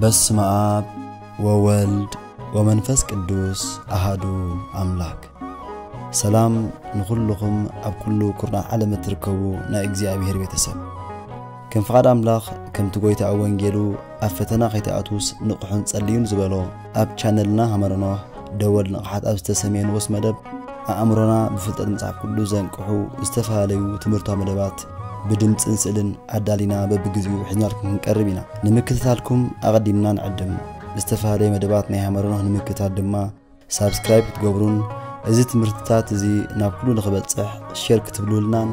በስመ አብ ወወልድ ወመንፈስ ቅዱስ አሃዱ አምላክ። ሰላም ንኹልኹም ኣብ ኩሉ ኩርናዕ ዓለም እትርከቡ ናይ እግዚኣብሔር ቤተሰብ። ከም ፍቓድ ኣምላኽ፣ ከምቲ ጐይታ ኣብ ወንጌሉ፣ "ኣብ ፈተና ከይትኣትዉስ ንቕሑን ጸልዩን" ዝበሎ፣ ኣብ ቻነልና ሃመረ ኖህ ደወል ንቕሓት ኣብ ዝተሰምየ ንኡስ መደብ፣ ኣእምሮና ብፍልጠት መጽሓፍ ቅዱስ ዘንቅሑ ዝተፈላለዩ ትምህርታዊ መደባት ብድምጽን ስእልን ኣዳሊና በብግዜኡ ሒዝናልኩም ክንቀርብ ኢና። ንምክትታልኩም ኣቐዲምና ንዕድም። ዝተፈላለዩ መደባት ናይ ሃመረ ኖህ ንምክትታል ድማ ሳብስክራይብ ክትገብሩን እዚ ትምህርትታት እዚ ናብ ኩሉ ንኽበጽሕ ሼር ክትብሉልናን፣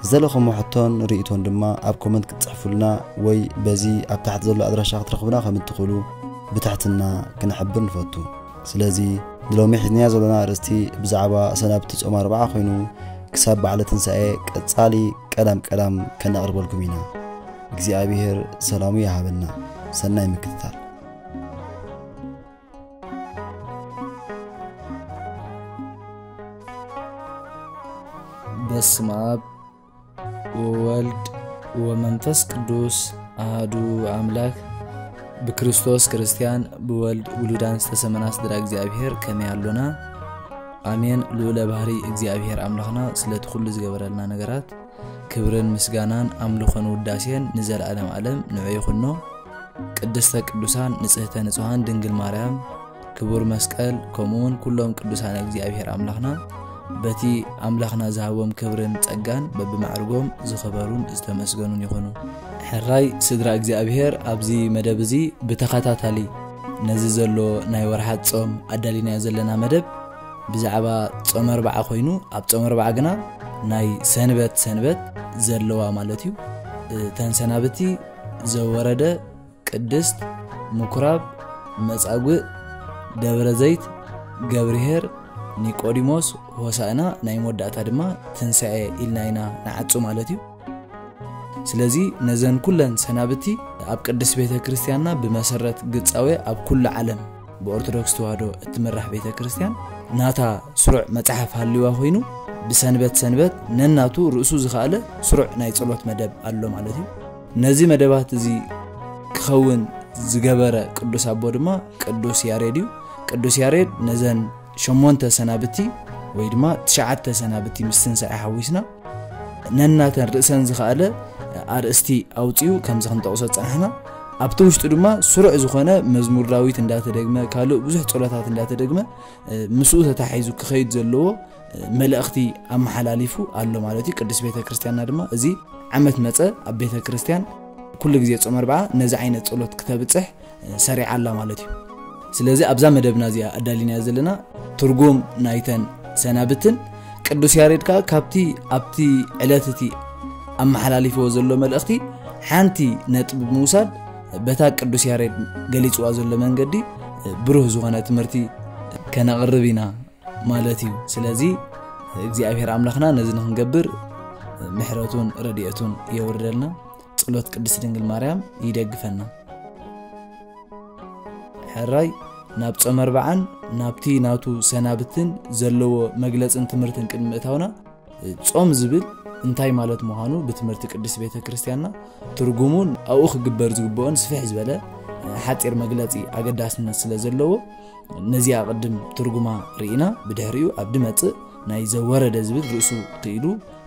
ዝደለኹሞ ሕቶን ርእይቶን ድማ ኣብ ኮመንት ክትጽሕፉልና ወይ በዚ ኣብ ታሕቲ ዘሎ ኣድራሻ ክትረኽቡና ከም እትኽእሉ ብትሕትና ክንሕብር ንፈቱ። ስለዚ ንሎሚ ሒዝናዮ ዘለና ኣርእስቲ ብዛዕባ ሰናብቲ ጾም ኣርብዓ ኮይኑ፣ ክሳብ በዓለ ትንሳኤ ቀጻሊ ቀዳም ቀዳም ከነቕርበልኩም ኢና። እግዚኣብሔር ሰላሙ ይሃበና። ሰናይ ምክትታል። በስመ አብ ወወልድ ወመንፈስ ቅዱስ አሃዱ አምላክ። ብክርስቶስ ክርስቲያን፣ ብወልድ ውሉዳን ዝተሰመና ስድራ እግዚኣብሔር ከመይ ኣሎና? ኣሜን። ልዑለ ባህሪ እግዚኣብሔር ኣምላኽና ስለቲ ኩሉ ዝገበረልና ነገራት ክብርን ምስጋናን ኣምልኾን ውዳሴን ንዘለዓለም ዓለም ንዑ ይኹኖ። ቅድስተ ቅዱሳን ንጽህተ ንጹሃን ድንግል ማርያም፣ ክቡር መስቀል፣ ከምኡውን ኩሎም ቅዱሳን እግዚኣብሔር ኣምላኽና በቲ ኣምላኽና ዝሃቦም ክብርን ጸጋን በብማዕርጎም ዝኸበሩን ዝተመስገኑን ይኹኑ። ሕራይ ስድራ እግዚኣብሔር፣ ኣብዚ መደብ እዚ ብተኸታታሊ ነዚ ዘሎ ናይ ወርሓት ጾም ኣዳሊናዮ ዘለና መደብ ብዛዕባ ጾም ኣርብዓ ኮይኑ፣ ኣብ ጾም ኣርብዓ ግና ናይ ሰንበት ሰንበት ዘለዋ ማለት እዩ። እተን ሰናብቲ ዘወረደ ቅድስት፣ ምኩራብ፣ መጻጉዕ፣ ደብረ ዘይት፣ ገብርሄር፣ ኒቆዲሞስ፣ ሆሳዕና፣ ናይ መወዳእታ ድማ ትንሳኤ ኢልና ኢና ንዓጹ ማለት እዩ። ስለዚ ነዘን ኩለን ሰናብቲ ኣብ ቅድስት ቤተ ክርስቲያንና ብመሰረት ግጻዌ ኣብ ኩሉ ዓለም ብኦርቶዶክስ ተዋህዶ እትምራሕ ቤተ ክርስቲያን ናታ ስሩዕ መጽሓፍ ሃልዋ ኮይኑ፣ ብሰንበት ሰንበት ነናቱ ርእሱ ዝኸኣለ ስሩዕ ናይ ጸሎት መደብ ኣሎ ማለት እዩ። ነዚ መደባት እዚ ክኸውን ዝገበረ ቅዱስ ኣቦ ድማ ቅዱስ ያሬድ እዩ። ቅዱስ ያሬድ ነዘን ሸሞንተ ሰናብቲ ወይ ድማ ትሽዓተ ሰናብቲ ምስ ትንሳኤ ሓዊስና ነናተን ርእሰን ዝኸኣለ ኣርእስቲ ኣውጺኡ ከምዚ ክንጠቕሶ ጸናሕና። ኣብቲ ውሽጡ ድማ ስሩዕ ዝኾነ መዝሙር ዳዊት እንዳተደግመ፣ ካልእ ብዙሕ ጸሎታት እንዳተደግመ፣ ምስኡ ተታሒዙ ክኸይድ ዘለዎ መልእኽቲ ኣመሓላሊፉ ኣሎ ማለት እዩ። ቅድስት ቤተ ክርስቲያንና ድማ እዚ ዓመት መጸ ኣብ ቤተ ክርስቲያን ኩሉ ግዜ ጾም ኣርብዓ ነዚ ዓይነት ጸሎት ክተብጽሕ ሰሪዓ ኣላ ማለት እዩ። ስለዚ ኣብዛ መደብና እዚኣ ኣዳሊናያ ዘለና ትርጉም ናይተን ሰናብትን ቅዱስ ያሬድ ከኣ ካብቲ ኣብቲ ዕለት እቲ ኣመሓላሊፍዎ ዘሎ መልእኽቲ ሓንቲ ነጥቢ ብምውሳድ በታ ቅዱስ ያሬድ ገሊጽዋ ዘሎ መንገዲ ብሩህ ዝኾነ ትምህርቲ ከነቕርብ ኢና ማለት እዩ። ስለዚ እግዚኣብሔር ኣምላኽና ነዚ ንኽንገብር ምሕረቱን ረድኤቱን የውርደልና። ጸሎት ቅድስት ድንግል ማርያም ይደግፈና። ሕራይ ናብ ጾም ኣርብዓን ናብቲ ናቱ ሰናብትን ዘለዎ መግለጽን ትምህርትን ቅድሚ ምእታውና፣ ጾም ዝብል እንታይ ማለት ምዃኑ ብትምህርቲ ቅድስት ቤተ ክርስቲያንና ትርጉሙን ኣብኡ ክግበር ዝግብኦን ስፍሕ ዝበለ ሓጺር መግለጺ ኣገዳስነት ስለ ዘለዎ፣ ነዚኣ ቅድም ትርጉማ ርኢና፣ ብድሕሪኡ ኣብ ድመጽእ ናይ ዘወረደ ዝብል ርእሱ ክኢሉ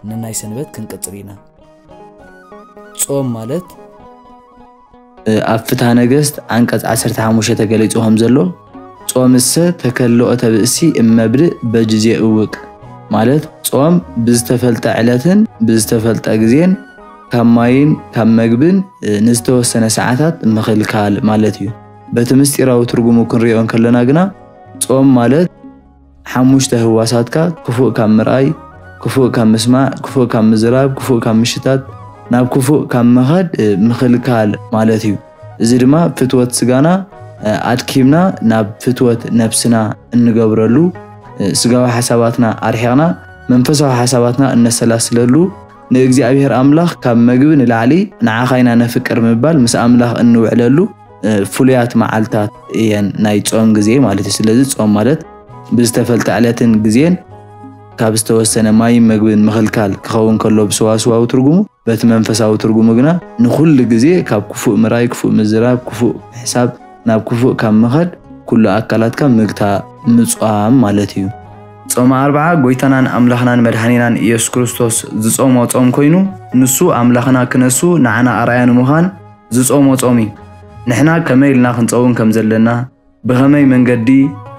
ነናይ ሰንበት ክንቅጽል ኢና። ጾም ማለት ኣብ ፍትሐ ነገስት ዓንቀጽ ዓሰርተ ሓሙሽተ ተገሊጹ ከም ዘሎ፣ ጾምሰ ተከልኦተ ብእሲ እመብድእ በጅዜ እውቅ፣ ማለት ጾም ብዝተፈልጠ ዕለትን ብዝተፈልጠ ግዜን ካብ ማይን ካብ መግብን ንዝተወሰነ ሰዓታት ምኽልካል ማለት እዩ። በቲ ምስጢራዊ ትርጉሙ ክንሪኦ እንከለና ግና፣ ጾም ማለት ሓሙሽተ ህዋሳትካ ክፉእ ካብ ምርኣይ፣ ክፉእ ካብ ምስማዕ፣ ክፉእ ካብ ምዝራብ፣ ክፉእ ካብ ምሽታት፣ ናብ ክፉእ ካብ ምኻድ ምኽልካል ማለት እዩ። እዚ ድማ ፍትወት ስጋና ኣድኪምና ናብ ፍትወት ነብስና እንገብረሉ፣ ስጋዊ ሓሳባትና ኣርሒቕና መንፈሳዊ ሓሳባትና እነሰላስለሉ፣ ንእግዚኣብሔር ኣምላኽ ካብ መግቢ ንላዕሊ ንዓኻ ኢና ነፍቅር ምባል ምስ ኣምላኽ እንውዕለሉ ፍሉያት መዓልታት እየን ናይ ጾም ግዜ ማለት እዩ። ስለዚ ጾም ማለት ብዝተፈልጠ ዕለትን ግዜን ካብ ዝተወሰነ ማይን መግብን ምኽልካል ክኸውን ከሎ ብሰዋስዋዊ ትርጉሙ፣ በቲ መንፈሳዊ ትርጉሙ ግና ንኹሉ ግዜ ካብ ክፉእ ምራይ፣ ክፉእ ምዝራብ፣ ክፉእ ምሕሳብ፣ ናብ ክፉእ ካብ ምኸድ ኩሉ ኣካላትካ ምግታ ምጽዋም ማለት እዩ። ጾመ ኣርብዓ ጎይታናን ኣምላኽናን መድሓኒናን ኢየሱስ ክርስቶስ ዝጾሞ ጾም ኮይኑ፣ ንሱ ኣምላኽና ክነሱ ንዓና ኣርኣያ ንምዃን ዝጾሞ ጾም እዩ። ንሕና ከመይ ኢልና ክንጸውን ከም ዘለና፣ ብኸመይ መንገዲ፣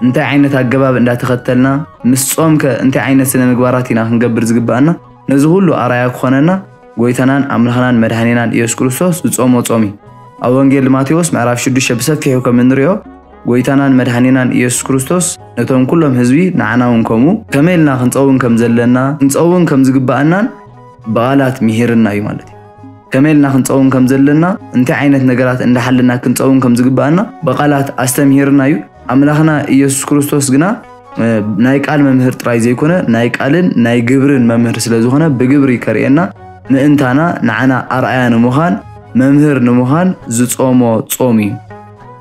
እንታይ ዓይነት ኣገባብ እንዳተኸተልና፣ ምስ ጾምከ እንታይ ዓይነት ስነ ምግባራት ኢና ክንገብር ዝግባኣና፣ ነዚ ኩሉ ኣርኣያ ክኾነና ጎይታናን ኣምላኽናን መድሓኒናን ኢየሱስ ክርስቶስ ዝጾሞ ጾም እዩ። ኣብ ወንጌል ማቴዎስ ምዕራፍ ሽዱሽተ ብሰፊሑ ከም እንሪኦ፣ ጎይታናን መድሓኒናን ኢየሱስ ክርስቶስ ነቶም ኩሎም ህዝቢ ንዓና እውን ከምኡ ከመይ ኢልና ክንጸውን ከም ዘለና፣ ክንጸውን ከም ዝግባኣናን ብቓላት ምሂርና እዩ ማለት እዩ። ከመይ ኢልና ክንጸውን ከም ዘለና፣ እንታይ ዓይነት ነገራት እንዳሓለና ክንጸውን ከም ዝግባኣና ብቓላት ኣስተምሂርና እዩ። ኣምላኽና ኢየሱስ ክርስቶስ ግና፣ እ፣ ናይ ቃል መምህር ጥራይ ዘይኮነ፣ ናይ ቃልን ናይ ግብርን መምህር ስለ ዝኾነ፣ ብግብሪ ከርእየና ምእንታና፣ ንዓና ኣርኣያ ንምዃን፣ መምህር ንምዃን ዝጾሞ ጾም እዩ።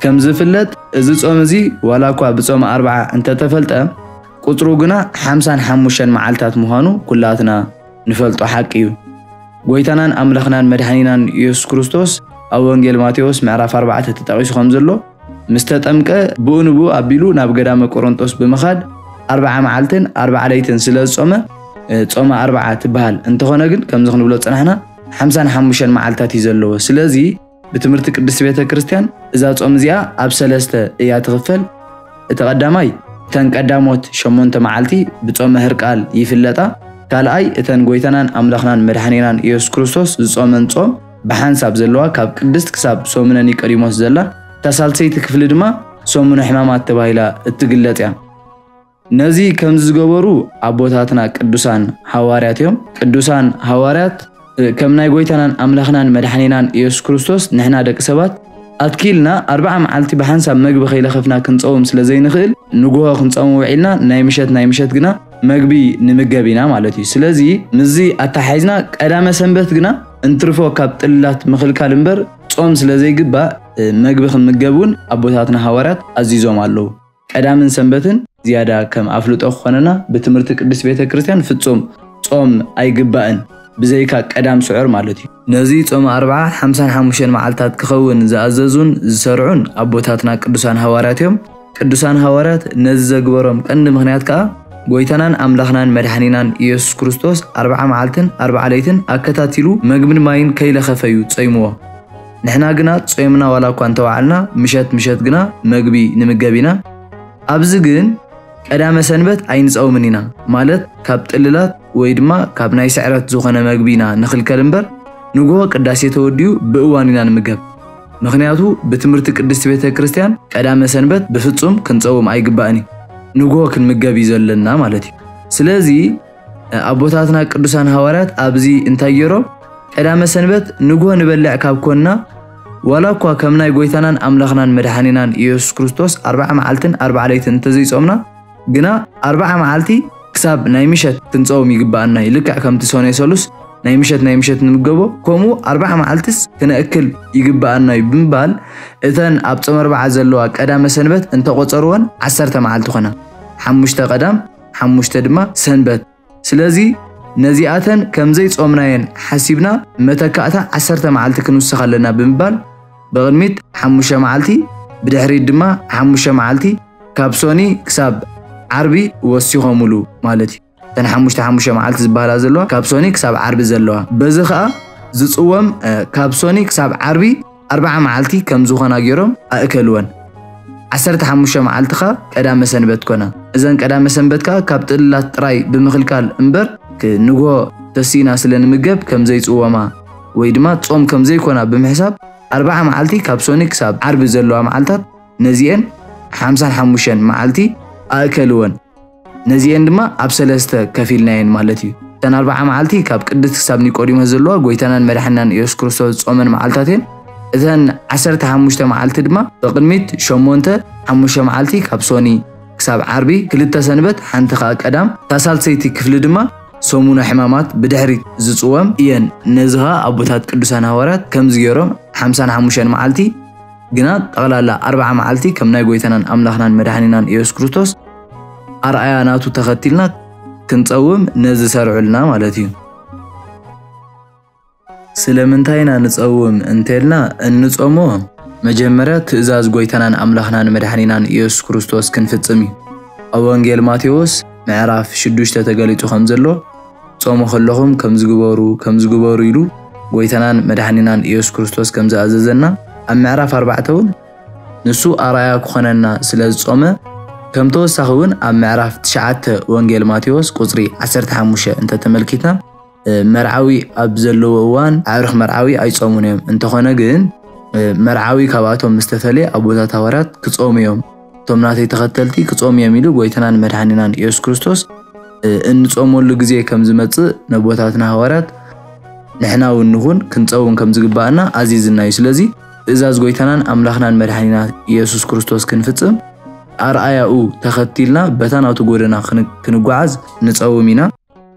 ከም ዝፍለጥ፣ እዚ ጾም እዚ ዋላ እኳ ብጾመ ኣርብዓ እንተተፈልጠ፣ ቁጽሩ ግና ሓምሳን ሓሙሽተን መዓልታት ምዃኑ ኩላትና ንፈልጦ ሓቂ እዩ። ጎይታናን ኣምላኽናን መድሓኒናን ኢየሱስ ክርስቶስ ኣብ ወንጌል ማቴዎስ ምዕራፍ ኣርባዕተ ተጠቒሱ ከም ዘሎ፣ ምስ ተጠምቀ ብኡ ንብኡ ኣቢሉ ናብ ገዳመ ቆሮንጦስ ብምኻድ ኣርብዓ መዓልትን ኣርብዓ ለይትን ስለ ዝጾመ፣ እ፣ ጾመ ኣርብዓ ትበሃል። እንተኾነ ግን፣ ከምዚ ክንብሎ ዝጸናሕና፣ ሓምሳን ሓሙሽተን መዓልታት እዩ ዘለዎ። ስለዚ፣ ብትምህርቲ ቅድስቲ ቤተ ክርስቲያን እዛ ጾም እዚኣ ኣብ ሰለስተ እያ ትኽፈል። እቲ ቀዳማይ፣ እተን ቀዳሞት ሸሞንተ መዓልቲ ብጾመ ህርቃል ይፍለጣ። ካልኣይ፣ እተን ጎይታናን ኣምላኽናን መድሓኒናን ኢየሱስ ክርስቶስ ዝጾመን ጾም ብሓንሳብ ዘለዋ፣ ካብ ቅድስት ክሳብ ሰሙነ ኒቆዲሞስ ዘላ፣ እታ ሳልሰይቲ ክፍሊ ድማ ሰሙነ ሕማማት ተባሂላ እትግለጽ እያ። ነዚ ከምዚ ዝገበሩ ኣቦታትና ቅዱሳን ሃዋርያት እዮም። ቅዱሳን ሃዋርያት፣ እ፣ ከም ናይ ጎይታናን ኣምላኽናን መድሓኒናን ኢየሱስ ክርስቶስ ንሕና ደቂ ሰባት ኣትኪልና ኣርብዓ መዓልቲ ብሓንሳብ መግቢ ከይለኸፍና ክንጸውም ስለ ዘይንኽእል፣ ንግሆ ክንጸውም ውዒልና፣ ናይ ምሸት፣ ናይ ምሸት ግና መግቢ ንምገብ ኢና ማለት እዩ። ስለዚ ምስዚ ኣተሓሒዝና ቀዳመ ሰንበት ግና እንትርፎ ካብ ጥላት ምኽልካል እምበር ጾም ስለ ዘይግባእ፣ እ፣ መግቢ ክንምገብ እውን ኣቦታትና ሃዋርያት ኣዚዞም ኣለዉ። ቀዳምን ሰንበትን ዝያዳ ከም ኣፍልጦ ክኾነና፣ ብትምህርቲ ቅድስት ቤተ ክርስቲያን ፍጹም ጾም ኣይግባእን፣ ብዘይካ ቀዳም ስዑር ማለት እዩ። ነዚ ጾመ ኣርብዓ ሓምሳን ሓሙሽተን መዓልታት ክኸውን ዝኣዘዙን ዝሰርዑን ኣቦታትና ቅዱሳን ሃዋርያት እዮም። ቅዱሳን ሃዋርያት ነዚ ዘግበሮም ቀንዲ ምኽንያት ከኣ፣ ጎይታናን ኣምላኽናን መድሓኒናን ኢየሱስ ክርስቶስ ኣርብዓ መዓልትን ኣርብዓ ለይትን ኣከታቲሉ መግብን ማይን ከይለኸፈ እዩ ጾይምዎ። ንሕና ግና ጾምና ዋላ እኳ እንተወዓልና፣ ምሸት ምሸት ግና መግቢ ንምገብ ኢና። ኣብዚ ግን ቀዳመ ሰንበት ኣይንጸውምን ኢና፣ ማለት ካብ ጥልላት ወይ ድማ ካብ ናይ ስዕረት ዝኾነ መግቢ ኢና ንኽልከል እምበር፣ ንግሆ ቅዳሴ ተወዲኡ ብእዋኑ ኢና ንምገብ። ምኽንያቱ ብትምህርቲ ቅድስቲ ቤተ ክርስቲያን ቀዳመ ሰንበት ብፍጹም ክንጸውም ኣይግባእን እዩ። ንግሆ ክንምገብ እዩ ዘለና ማለት እዩ። ስለዚ ኣቦታትና ቅዱሳን ሃዋርያት ኣብዚ እንታይ ገይሮም? ቀዳመ ሰንበት ንግሆ ንበልዕ ካብ ኮንና፣ ዋላ እኳ ከም ናይ ጎይታናን ኣምላኽናን መድሓኒናን ኢየሱስ ክርስቶስ ኣርብዓ መዓልትን ኣርብዓ ለይትን እንተዘይጾምና፣ ግና ኣርብዓ መዓልቲ ክሳብ ናይ ምሸት ክንጸውም ይግባኣና እዩ። ልክዕ ከምቲ ሰኑይ ሰሉስ ናይ ምሸት ናይ ምሸት ንምገቦ፣ ከምኡ ኣርባዓ መዓልትስ ክነእክል ይግብኣና እዩ ብምባል፣ እተን ኣብ ጾም ኣርባዓ ዘለዋ ቀዳመ ሰንበት እንተቖጸርወን ዓሰርተ መዓልቲ ኾና። ሓሙሽተ ቀዳም፣ ሓሙሽተ ድማ ሰንበት። ስለዚ ነዚኣተን ከም ዘይጾምናየን ሓሲብና፣ መተካእታ ዓሰርተ መዓልቲ ክንውስኽ ኣለና ብምባል፣ ብቕድሚት ሓሙሽተ መዓልቲ፣ ብድሕሪት ድማ ሓሙሽተ መዓልቲ፣ ካብ ሶኒ ክሳብ ዓርቢ ወሲኾምሉ ማለት እዩ። እተን ሓሙሽተ ሓሙሽተ መዓልቲ ዝበሃላ ዘለዋ፣ ካብ ሶኒ ክሳብ ዓርቢ ዘለዋ። በዚ ኸኣ ዝጽወም፣ እ፣ ካብ ሶኒ ክሳብ ዓርቢ ኣርባዓ መዓልቲ ከም ዝኾና ገይሮም ኣእከልወን። ዓሰርተ ሓሙሽተ መዓልቲ ኸኣ ቀዳመ ሰንበት ኮና። እዘን ቀዳመ ሰንበት ከኣ ካብ ጥልላት ጥራይ ብምኽልካል እምበር፣ ክ-፣ ንግሆ ተሲእና ስለ ንምገብ ከም ዘይጽወማ ወይ ድማ ጾም ከም ዘይኮና ብምሕሳብ፣ ኣርባዓ መዓልቲ ካብ ሶኒ ክሳብ ዓርቢ ዘለዋ መዓልታት ነዚኤን ሓምሳን ሓሙሽተን መዓልቲ ኣእከልወን። ነዚኤን ድማ ኣብ ሰለስተ ከፊልናየን ማለት እዩ። እተን ኣርባዓ መዓልቲ ካብ ቅድስት ክሳብ ኒቆዲሞስ ዘለዋ ጎይታናን መድሓኒናን ኢየሱስ ክርስቶስ ዝጾመን መዓልታት እየን። እተን ዓሰርተ ሓሙሽተ መዓልቲ ድማ ብቕድሚት ሸሞንተ፣ ሓሙሽተ መዓልቲ ካብ ሶኒ ክሳብ ዓርቢ፣ ክልተ ሰንበት፣ ሓንቲ ኸኣ ቀዳም፣ እታ ሳልሰይቲ ክፍሊ ድማ ሰሙነ ሕማማት ብድሕሪት ዝጽወም እየን። ነዚ ኸኣ ኣቦታት ቅዱሳን ሃዋርያት ከምዚ ገይሮም ሓምሳን ሓሙሽተን መዓልቲ ግና ጠቕላላ ኣርባዓ መዓልቲ ከም ናይ ጎይታናን ኣምላኽናን መድሓኒናን ኢየሱስ ክርስቶስ ኣርኣያ ናቱ ተኸቲልና ክንጸውም ነዚ ሰርዑልና ማለት እዩ። ስለምንታይ ኢና ንጸውም እንተልና እንጾሞ፣ መጀመርያ ትእዛዝ ጎይታናን ኣምላኽናን መድሓኒናን ኢየሱስ ክርስቶስ ክንፍጽም እዩ። ኣብ ወንጌል ማቴዎስ ምዕራፍ ሽዱሽተ ተገሊጹ ከም ዘሎ፣ ጾሙ ከለኹም ከምዚ ግበሩ፣ ከምዚ ግበሩ ኢሉ ጎይታናን መድሓኒናን ኢየሱስ ክርስቶስ ከም ዝኣዘዘና ኣብ ምዕራፍ ኣርባዕተ እውን ንሱ ኣርኣያ ክኾነና ስለ ዝጾመ፣ ከም ተወሳኺ እውን ኣብ ምዕራፍ ትሽዓተ ወንጌል ማቴዎስ ቁጽሪ ዓሰርተ ሓሙሽተ እንተተመልኪትና፣ እ፣ መርዓዊ ኣብ ዘለዎ እዋን ኣዕሩኽ መርዓዊ ኣይጾሙን እዮም። እንተኾነ ግን፣ እ፣ መርዓዊ ካብኣቶም ምስ ተፈልየ ኣቦታት ሃዋርያት ክጾሙ እዮም። እቶም ናተይ ተኸተልቲ ክጾሙ እዮም ኢሉ ጎይታናን መድሓኒናን ኢየሱስ ክርስቶስ፣ እ፣ እንጾመሉ ግዜ ከም ዝመጽእ ነቦታትና ሃዋርያት ንሕና እውን ንኹን ክንጸውም ከም ዝግባኣና ኣዚዝና እዩ። ስለዚ ትእዛዝ ጎይታናን ኣምላኽናን መድሓኒና ኢየሱስ ክርስቶስ ክንፍጽም ኣርኣያኡ ተኸቲልና በታ ናቱ ጎደና ክን-፣ ክንጓዓዝ ንጸውም ኢና።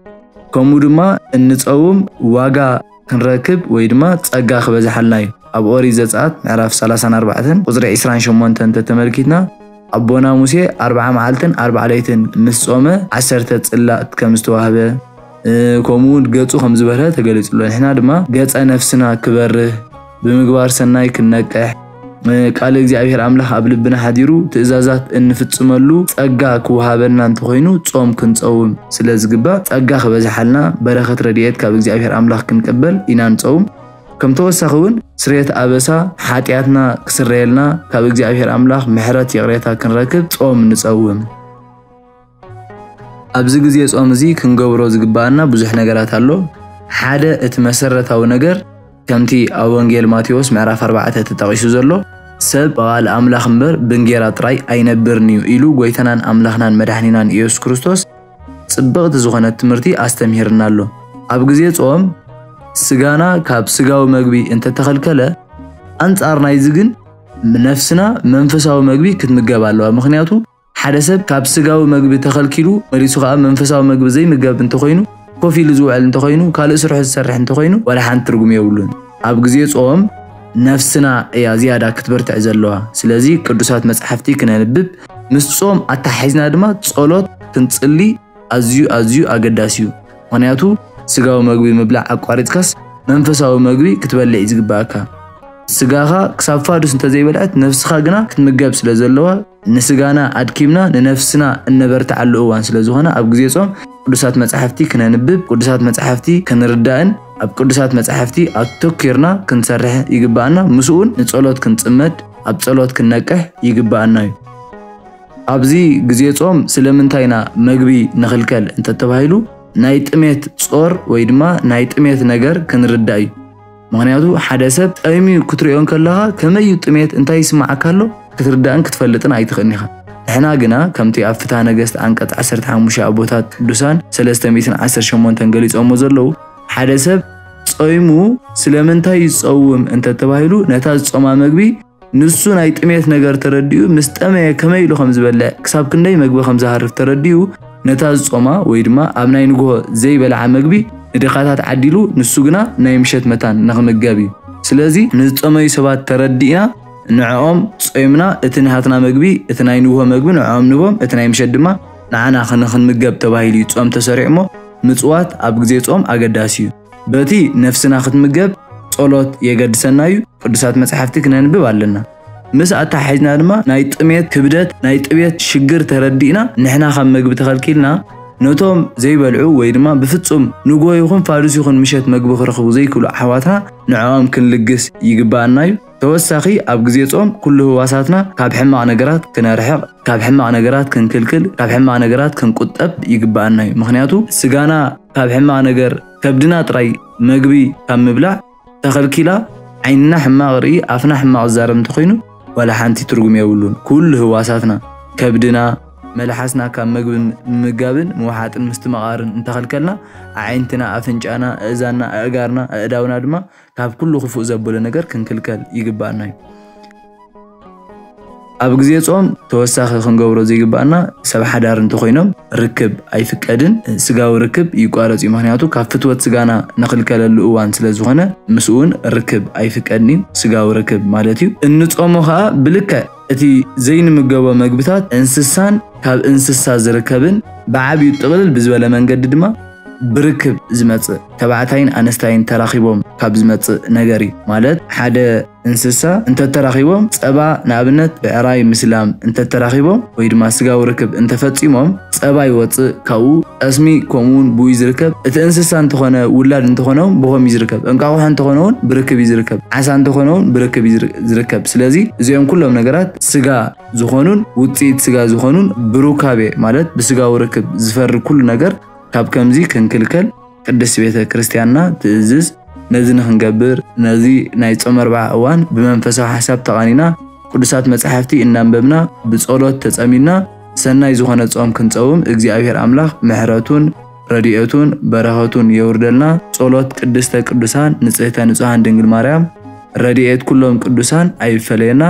ከምኡ ድማ እንጸውም ዋጋ ክንረክብ ወይ ድማ ጸጋ ክበዝሓልና እዩ። ኣብ ኦሪት ዘጸኣት ምዕራፍ ሰላሳን ኣርባዕተን ቁጽሪ ዕስራን ሸሞንተን እንተተመልኪትና፣ ኣቦና ሙሴ ኣርብዓ መዓልትን ኣርብዓ ለይትን ምስ ጾመ ዓሰርተ ጽላት ከም ዝተዋህበ፣ እ፣ ከምኡ እውን ገጹ ከም ዝበርሀ ተገሊጹ ኣሎ። ንሕና ድማ ገጸ ነፍስና ክበርህ፣ ብምግባር ሰናይ ክንነቅሕ፣ እ፣ ቃል እግዚኣብሔር ኣምላኽ ኣብ ልብና ሓዲሩ ትእዛዛት እንፍጽመሉ ጸጋ ክወሃበና እንተኾይኑ ጾም ክንጸውም ስለ ዝግባእ ጸጋ ክበዝሓልና በረኸት ረድኤት ካብ እግዚኣብሔር ኣምላኽ ክንቅበል ኢና ንጸውም። ከም ተወሳኺ እውን ስርየት ኣበሳ ሓጢኣትና ክስረየልና ካብ እግዚኣብሔር ኣምላኽ ምሕረት ይቕሬታ ክንረክብ ጾም ንጸውም። ኣብዚ ግዜ ጾም እዚ ክንገብሮ ዝግባኣና ብዙሕ ነገራት ኣሎ። ሓደ እቲ መሰረታዊ ነገር ከምቲ ኣብ ወንጌል ማቴዎስ ምዕራፍ ኣርባዕተ ተጠቒሱ ዘሎ፣ "ሰብ ብቓል ኣምላኽ እምበር ብእንጌራ ጥራይ ኣይነብርን እዩ" ኢሉ ጎይታናን ኣምላኽናን መድሓኒናን ኢየሱስ ክርስቶስ ጽብቕቲ ዝኾነት ትምህርቲ ኣስተምሂርና ኣሎ። ኣብ ግዜ ጾም ስጋና ካብ ስጋዊ መግቢ እንተተኸልከለ፣ ኣንጻር ናይዚ ግን ነፍስና መንፈሳዊ መግቢ ክትምገብ ኣለዋ። ምኽንያቱ ሓደ ሰብ ካብ ስጋዊ መግቢ ተኸልኪሉ መሊሱ ኸኣ መንፈሳዊ መግቢ ዘይምገብ እንተኾይኑ፣ ኮፍ ኢሉ ዝውዕል እንተኾይኑ፣ ካልእ ስርሑ ዝሰርሕ እንተኾይኑ፣ ዋላ ሓንቲ ትርጉም የብሉን። ኣብ ግዜ ጾም ነፍስና እያ ዝያዳ ክትበርትዕ ዘለዋ። ስለዚ ቅዱሳት መጻሕፍቲ ክነንብብ፣ ምስ ጾም ኣተሓሒዝና ድማ ጸሎት ክንጽሊ ኣዝዩ፣ ኣዝዩ ኣገዳሲ እዩ። ምኽንያቱ ስጋዊ መግቢ ምብላዕ ኣቋሪጽካስ መንፈሳዊ መግቢ ክትበልዕ እዩ ዝግባኣካ። ስጋኻ ክሳብ ፋዱስ እንተዘይበልዐት፣ ነፍስኻ ግና ክትምገብ ስለ ዘለዋ፣ ንስጋና ኣድኪምና ንነፍስና እነበርትዓሉ እዋን ስለ ዝኾነ፣ ኣብ ግዜ ጾም ቅዱሳት መጻሕፍቲ ክነንብብ፣ ቅዱሳት መጻሕፍቲ ክንርዳእን ኣብ ቅዱሳት መጻሕፍቲ ኣተኲርና ክንሰርሕ ይግባኣና። ምስኡን ንጸሎት ክንጽመድ፣ ኣብ ጸሎት ክንነቅሕ ይግባኣና እዩ። ኣብዚ ግዜ ጾም ስለምንታይ ኢና መግቢ ንኽልከል እንተተባሂሉ፣ ናይ ጥሜት ጾር ወይ ድማ ናይ ጥሜት ነገር ክንርዳእ እዩ። ምኽንያቱ ሓደ ሰብ ጠይሙ ክትሪኦ እንከለኻ ከመይ እዩ ጥሜት፣ እንታይ ይስምዓካ ኣሎ ክትርዳእን ክትፈልጥን ኣይትኽእልን ኢኻ። ንሕና ግና ከምቲ ኣብ ፍትሐ ነገስት ዓንቀጽ ዓሰርተ ሓሙሽተ ኣቦታት ቅዱሳን ሰለስተ ሚእትን ዓሰርተ ሸሞንተን ገሊጾሞ ዘለዉ፣ ሓደ ሰብ ጾይሙ ስለምንታይ ይጸውም እንተተባሂሉ፣ ነታ ዝጾማ መግቢ ንሱ ናይ ጥሜት ነገር ተረዲኡ፣ ምስ ጠመየ ከመይ ኢሉ ከም ዝበልዕ፣ ክሳብ ክንደይ መግቢ ከም ዝሃርፍ ተረዲኡ፣ ነታ ዝጾማ ወይ ድማ ኣብ ናይ ንግሆ ዘይበልዓ መግቢ ንድኻታት ዓዲሉ፣ ንሱ ግና ናይ ምሸት መታን ንኽምገብ እዩ። ስለዚ ንዝጸመዩ ሰባት ተረዲእና፣ ንዕኦም ጾይምና፣ እቲ ናትና መግቢ፣ እቲ ናይ ንግሆ መግቢ ንዕኦም ንቦም፣ እቲ ናይ ምሸት ድማ ንዓና ንኽንምገብ ተባሂሉ እዩ ጾም ተሰሪዑ እሞ፣ ምጽዋት ኣብ ግዜ ጾም ኣገዳሲ እዩ። በቲ ነፍስና ክትምገብ ጸሎት የገድሰና እዩ። ቅዱሳት መጻሕፍቲ ክነንብብ ኣለና። ምስ ኣተሓሒዝና ድማ ናይ ጥሜት ክብደት፣ ናይ ጥሜት ሽግር ተረዲእና፣ ንሕና ካብ መግቢ ተኸልኪልና፣ ነቶም ዘይበልዑ ወይ ድማ ብፍጹም ንጎ ይኹን ፋዱስ ይኹን ምሸት መግቢ ክረኽቡ ዘይክእሉ ኣሕዋትና ንዕኦም ክንልግስ ይግባኣና እዩ። ተወሳኺ ኣብ ግዜ ጾም ኩሉ ህዋሳትና ካብ ሕማቕ ነገራት ክነርሕቕ፣ ካብ ሕማቕ ነገራት ክንክልክል፣ ካብ ሕማቕ ነገራት ክንቁጠብ ይግባኣና እዩ። ምኽንያቱ ስጋና ካብ ሕማቕ ነገር ከብድና ጥራይ መግቢ ካብ ምብላዕ ተኸልኪላ ዓይንና ሕማቕ ርኢ ኣፍና ሕማቕ ዝዛረብ እንተኾይኑ ዋላ ሓንቲ ትርጉም የብሉን። ኩሉ ህዋሳትና ከብድና መልሓስና ካብ መግቢ ምምጋብን ምውሓጥን ምስትምቓርን እንተኸልከልና ኣዒንትና ኣፍንጫና ኣእዛንና ኣእጋርና ኣእዳውና ድማ ካብ ኩሉ ክፉእ ዘብሎ ነገር ክንክልከል ይግባኣና እዩ። ኣብ ግዜ ጾም ተወሳኺ ክንገብሮ ዘይግባኣና ሰብ ሓዳር እንተኾይኖም ርክብ ኣይፍቀድን። ስጋዊ ርክብ ይቋረጽ እዩ። ምኽንያቱ ካብ ፍትወት ስጋና ንኽልከለሉ እዋን ስለ ዝኾነ ምስኡ እውን ርክብ ኣይፍቀድን እዩ። ስጋዊ ርክብ ማለት እዩ። እንጾሞ ኸኣ ብልክዕ እቲ ዘይንምገቦ መግብታት እንስሳን ካብ እንስሳ ዝርከብን ብዓብዩ ጥቕልል ብዝበለ መንገዲ ድማ ብርክብ ዝመጽእ ተባዕታይን ኣነስታይን ተራኺቦም ካብ ዝመጽእ ነገር እዩ። ማለት ሓደ እንስሳ እንተተራኺቦም ጸባ ንኣብነት ብዕራይ ምስላም እንተተራኺቦም ወይ ድማ ስጋዊ ርክብ እንተፈጺሞም ጸባ ይወጽእ። ካብኡ ጠስሚ ከምኡ እውን ብኡ እዩ ዝርከብ። እቲ እንስሳ እንተኾነ ውላድ እንተኾነ እውን ብኸም እዩ ዝርከብ። እንቃቑሖ እንተኾነ እውን ብርክብ እዩ ዝርከብ። ዓሳ እንተኾነ እውን ብርክብ እዩ ዝር- ዝርከብ። ስለዚ እዚኦም ኩሎም ነገራት ስጋ ዝኾኑን ውጽኢት ስጋ ዝኾኑን ብሩካቤ ማለት ብስጋዊ ርክብ ዝፈሪ ኩሉ ነገር ካብ ከምዚ ክንክልከል ቅድስት ቤተ ክርስቲያንና ትእዝዝ። ነዚ ንኽንገብር ነዚ ናይ ጾም ኣርብዓ እዋን ብመንፈሳዊ ሓሳብ ተቓኒና ቅዱሳት መጻሕፍቲ እናንበብና ብጸሎት ተጸሚድና ሰናይ ዝኾነ ጾም ክንጸውም እግዚኣብሔር ኣምላኽ ምሕረቱን ረድኤቱን በረኸቱን የውርደልና። ጸሎት ቅድስተ ቅዱሳን ንጽህተ ንጹሃን ድንግል ማርያም ረድኤት ኩሎም ቅዱሳን ኣይፈለየና።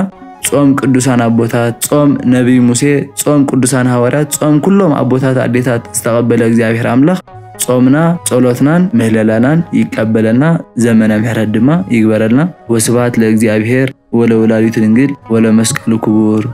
ጾም ቅዱሳን ኣቦታት፣ ጾም ነቢይ ሙሴ፣ ጾም ቅዱሳን ሃዋርያት፣ ጾም ኩሎም ኣቦታት ኣዴታት ዝተቐበለ እግዚኣብሔር ኣምላኽ ጾምና ጸሎትናን ምህለላናን ይቀበለልና። ዘመነ ምሕረት ድማ ይግበረልና። ወስብሐት ለእግዚኣብሔር ወለወላዲቱ ድንግል ወለመስቀሉ ክቡር።